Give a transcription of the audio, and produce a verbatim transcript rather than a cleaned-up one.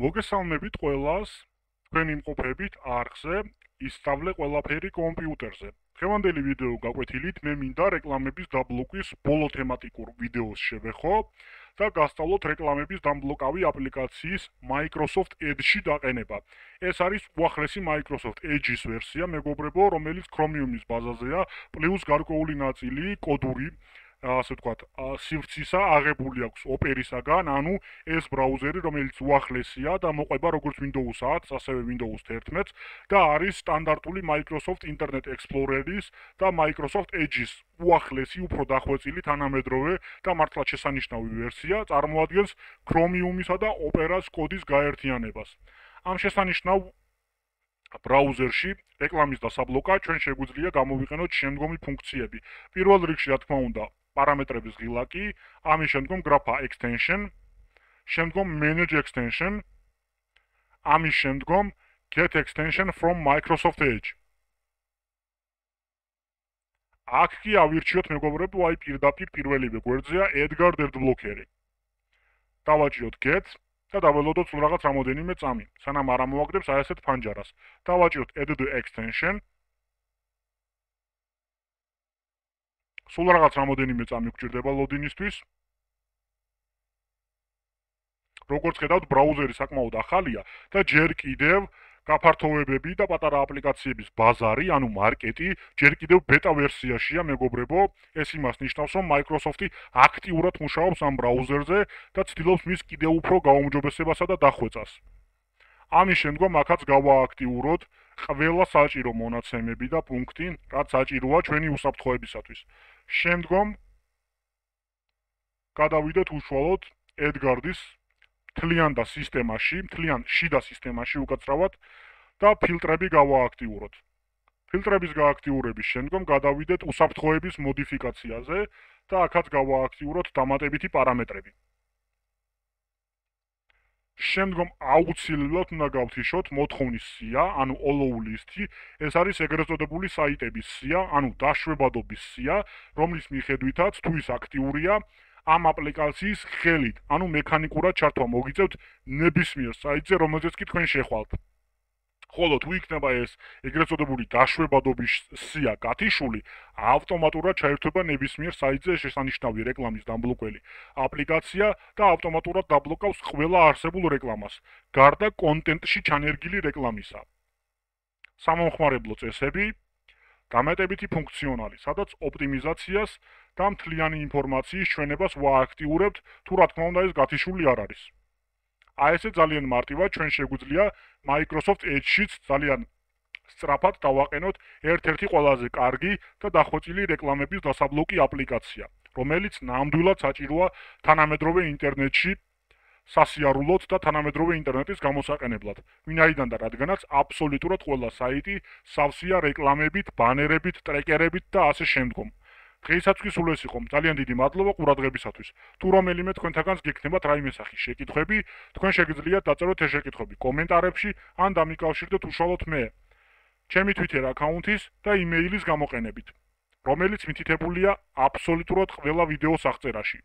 მოგესალმებით ყველას, თქვენ იმყოფებით არხზე, ისწავლე ყველაფერი კომპიუტერზე. დღევანდელი ვიდეო გაკვეთილით მე მინდა რეკლამების დაბლოკვის ბოლო თემატიკურ ვიდეოს შევეხო და გასწავლოთ რეკლამების დამბლოკავი აპლიკაციის Microsoft Edge-ში დაყენება. ეს არის უახლესი Microsoft Edge-ის ვერსია, მეგობრებო, რომელიც Chromium-ის ბაზაზეა, პლუს გარკვეული ნაწილი კოდური ასე ვთქვათ, სივრცისა აღებული აქვს ოპერისაგან, ანუ ეს ბრაუზერი, რომელიც უახლესია და მოყვება როგორც Windows ათს, ასევე Windows თერთმეტს და არის სტანდარტული Microsoft Internet Explorer-ის და Microsoft Edge-ის უახლესი, უფრო დახვეწილი თანამედროვე და მართლაც შესანიშნავი ვერსია, წარმოადგენს Chromium-ისა და Opera-ს კოდის გაერთიანებას. ამ შესანიშნავ ბრაუზერში რეკლამის დასაბლოკად ჩვენ შეგვიძლია გამოვიყენოთ შემდგომი ფუნქციები. პირველ რიგში, რა თქმა უნდა, პარამეტრების ღილაკი, ამის შემდგომ grapha extension, შემდგომ manage extension, ამის შემდგომ get extension from Microsoft Edge. აქ კი ავირჩიოთ მეგობრებო, აი პირდაპირ პირველივე გვერდზეა Edgar Adblocker-ი. დავაჭიროთ get და დაველოდოთ სულ რაღაც რამოდენიმე წამი, სანამ არ ამოვაგდებს აი ასეთ ფანჯარას. დავაჭიროთ add extension. სულ რაღაც რამოდენიმე წამი გვჭირდება ლოდინისთვის. როგორც ხედავთ, ბრაუზერი საკმაოდ ახალია და ჯერ კიდევ გაფართოვებები და პატარა აპლიკაციების ბაზარი, ანუ მარკეტი, ჯერ კიდევ ბეტა ვერსიაშია, მეგობრებო. ეს იმას ნიშნავს, რომ Microsoft-ი აქტიურად მუშაობს ამ ბრაუზერზე და ცდილობს მის კიდევ უფრო გაუმჯობესებასა და დახვეწას. ამის შემდგომ აქაც გავააქტიუროთ ყველა საჭირო მონაცემები და პუნქტი, რაც საჭიროა ჩვენი უსაფრთხოებისათვის. შემდგომ გადავიდეთ უშუალოდ Edgar-ის მთლიან და სისტემაში, მთლიან შიდა სისტემაში უკაცრავად და ფილტრები გავააქტიუროთ. ფილტრების გააქტიურების შემდგომ გადავიდეთ უსაფრთხოების მოდიფიკაციაზე და აქაც გავააქტიუროთ დამატებითი პარამეტრები. შემდგომ აუცილებლად უნდა გავთიშოთ მოთხოვნის სია, ანუ allow list-ი, ეს არის ეგრეთ წოდებული საიტების სია, ანუ დაშვებადობის სია, რომლის მიხედვითაც თუ ის აქტიურია, ამ აპლიკაციის ხელით, ანუ მექანიკურად ჩართვა მოგიწევთ ნებისმიერ საიტზე, რომელზეც კი თქვენ შეხვალთ. ხოლო თუ იქნება ეს ეგრეთ წოდებული დაშვებადობის სია გათიშული, ავტომატურად ჩაერთვება ნებისმიერ საიტზე შესანიშნავი რეკლამის დამბლოკველი აპლიკაცია და ავტომატურად დაბლოკავს ყველა არსებულ რეკლამას, გარდა კონტენტში ჩანერგილი რეკლამისა. სამომხმარებლო წესები, დამატებითი ფუნქციონალი, სადაც ოპტიმიზაციას და მთლიანი ინფორმაციის ჩვენებას ვააქტიურებთ, თუ რა თქმა უნდა ეს გათიშული არ არის. აი ესე ძალიან მარტივად ჩვენ შეგვიძლია Microsoft Edge-შიც ძალიან სწრაფად დავაყენოთ ერთ-ერთი ყველაზე კარგი და დახვეწილი რეკლამების დასაბლოკი აპლიკაცია, რომელიც ნამდვილად საჭიროა თანამედროვე ინტერნეტში სასიარულოდ და თანამედროვე ინტერნეტის გამოსაყენებლად. ვინაიდან და რადგანაც აბსოლუტურად ყველა საიტი სავსეა რეკლამებით, ბანერებით, ტრეკერებით და ასე შემდგომ. დღეისათვის სულ ეს იყო. ძალიან დიდი მადლობა ყურადღებისათვის. თუ რომელიმე თქვენთაგანს გექნებათ რაიმე სახის შეკითხვები, თქვენ შეგიძლიათ დაწეროთ ეს შეკითხვები კომენტარებში ან დამიკავშირდეთ უშუალოდ მე, ჩემი Twitter აკაუნთის და იმეილის გამოყენებით, რომელიც მითითებულია აბსოლუტურად ყველა ვიდეოს აღწერაში.